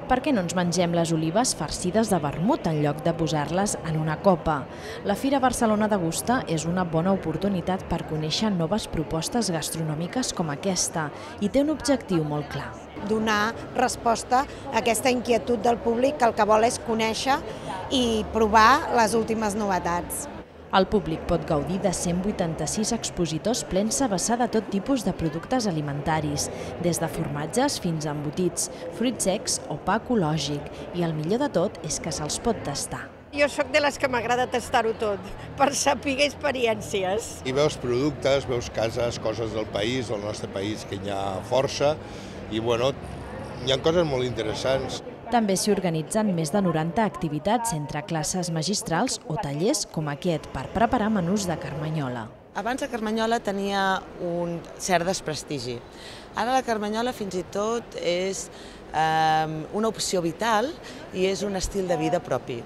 Per què no ens mengem les olives farcides de vermut en lloc de posar-les en una copa? La Fira Barcelona Degusta és una bona oportunitat per conèixer noves propostes gastronòmiques com aquesta i té un objectiu molt clar. Donar resposta a aquesta inquietud del públic que el que vol és conèixer i provar les últimes novetats. El públic pot gaudir de 186 expositors plens a vessar de tot tipus de productes alimentaris, des de formatges fins a embotits, fruits secs o pa ecològic, i el millor de tot és que se'ls pot tastar. Jo sóc de les que m'agrada tastar-ho tot, per saber experiències. I veus productes, veus cases, coses del país, del nostre país, que hi ha força, i bueno, hi ha coses molt interessants. També s'hi organitzen més de 90 activitats entre classes magistrals o tallers com aquest per preparar menús de carmanyola. Abans la carmanyola tenia un cert desprestigi. Ara la carmanyola fins i tot és una opció vital i és un estil de vida propi.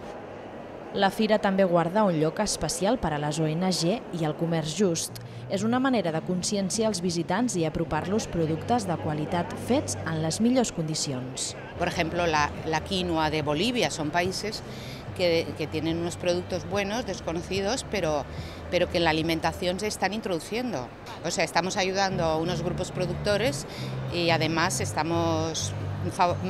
La fira també guarda un lloc especial per a les ONG i el comerç just. És una manera de conscienciar els visitants i apropar-los productes de qualitat fets en les millors condicions. Por ejemplo, la quinoa de Bolivia, son países que tienen unos productos buenos, desconocidos, pero que en la alimentación se están introduciendo. O sea, estamos ayudando a unos grupos productores y además estamos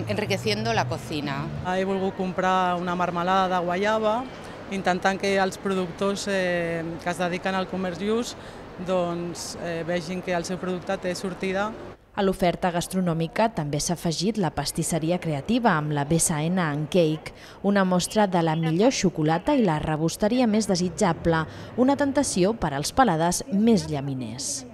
enriqueciendo la cocina. He volgut comprar una marmelada de guaiava, intentant que els productors que es dediquen al comerç just vegin que el seu producte té sortida. A l'oferta gastronòmica també s'ha afegit la pastisseria creativa amb la BSN and Cake, una mostra de la millor xocolata i la rebosteria més desitjable, una tentació per als paladars més llaminers.